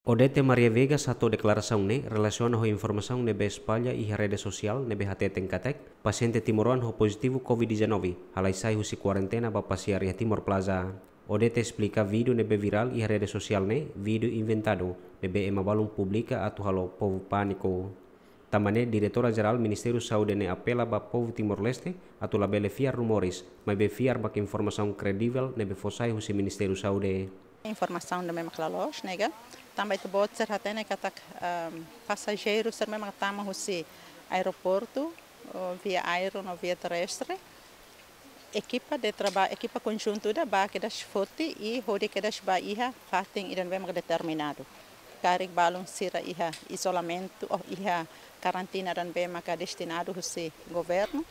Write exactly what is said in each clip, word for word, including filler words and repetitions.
Odete Maria Vegas hato'o deklarasaun ne'e relasiona ho informasaun ne'ebé espalla iha rede sosiál ne'ebé hateten katak pasiente timoroan ho pozitivu COVID-19 halai sai husi kuarentena ba pasiar iha Timor Plaza. Odete esplika vídeo ne'ebé virál iha rede sosiál ne'e vídeo inventadu ne'ebé ema balun publika atu halo povu pániku. Tanba ne'e, Diretora Jerál Ministériu Saúde ne'e apela ba povu Timor-Leste atu labele fiar rumores, maibé fiar ba informasaun kredivel ne'ebé fó sai husi Ministériu Saúde. Informasaun ne'ebé mak la loos, ne'e ka, tanba ita-boot sira hatene katak, ehm, pasajeiru sira ne'ebé mak tama husi aeroportu, ou via aéreu no via terrestre, ekipa de traba-, ekipa konjuntu ida bá kedas foti i hodi kedas bá iha fatin ida ne'ebé maka determinadu. Karik balun sira iha izolamentu ou iha karantina ida ne'ebé maka destinadu husi governu.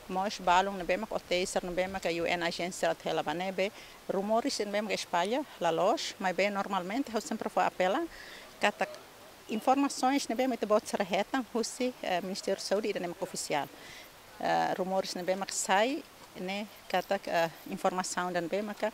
Mós balun ne'ebé maka hotéis sira ne'ebé maka U N ajénsia atu hela ba ne'ebé. Rumores ne'ebé maka espalla la loos, maibé normalmente ha'u sempre fó apela katak informasoens ne'ebé mak ita-boot sira hetan husi, eh, Ministériu Saúde ida ne'e maka ofisiál. Eh, rumores ne'ebé mak sai ne'e katak, eh, informasaun ida ne'ebé maka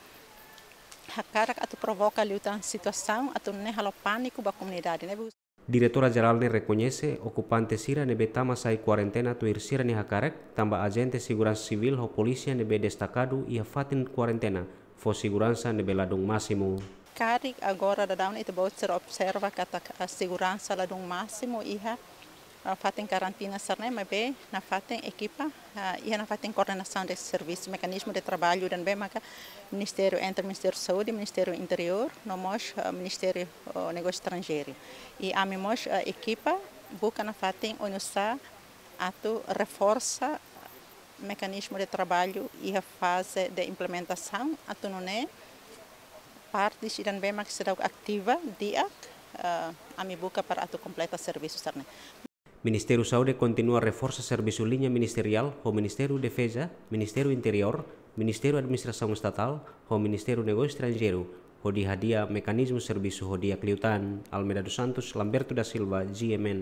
hakarak atu provoka liután situasaun atu nune'e halo pániku ba komunidade ne'ebé. Diretora Jerál ne'e rekoñese okupante sira ne'ebé tama sai kuarentena tuir sira-nia hakarak, tanba ajente seguransa sivíl ho polísia ne'ebé destakadu iha fatin kuarentena fó seguransa ne'ebé ladún másimu. Karik agora daudaun ne'e ita-boot sira observa katak, ah, seguransa ladún másimu iha, ah, fatin karantina sira ne'e, maibé nafatin ekipa, ah, iha nafatin koordenasaun de servisu, mekanizmu de traballu ida ne'ebé maka Ministériu, entre Ministériu Saúde, Ministériu Interiór, no mós, ah, Ministériu, oh, Negósiu Estranjeiru. I ami mós, ah, ekipa buka nafatin oinsá atu reforsa mekanizmu de traballu iha faze de implementasaun atu nune'e partes ida ne'ebé mak seidauk ativa di'ak, eh, ami buka para atu kompleta servisu sira ne'e. Ministériu Saúde kontinua reforsa servisu liña ministeriál ho Ministériu Defeza, Ministériu Interiór, Ministériu Administrasaun Estatál ho Ministériu Negósiu Estranjeiru, hodi hadi'a mekanizmu servisu ho di'ak liután. Almeida dos Santos, Lamberto da Silva, G M N.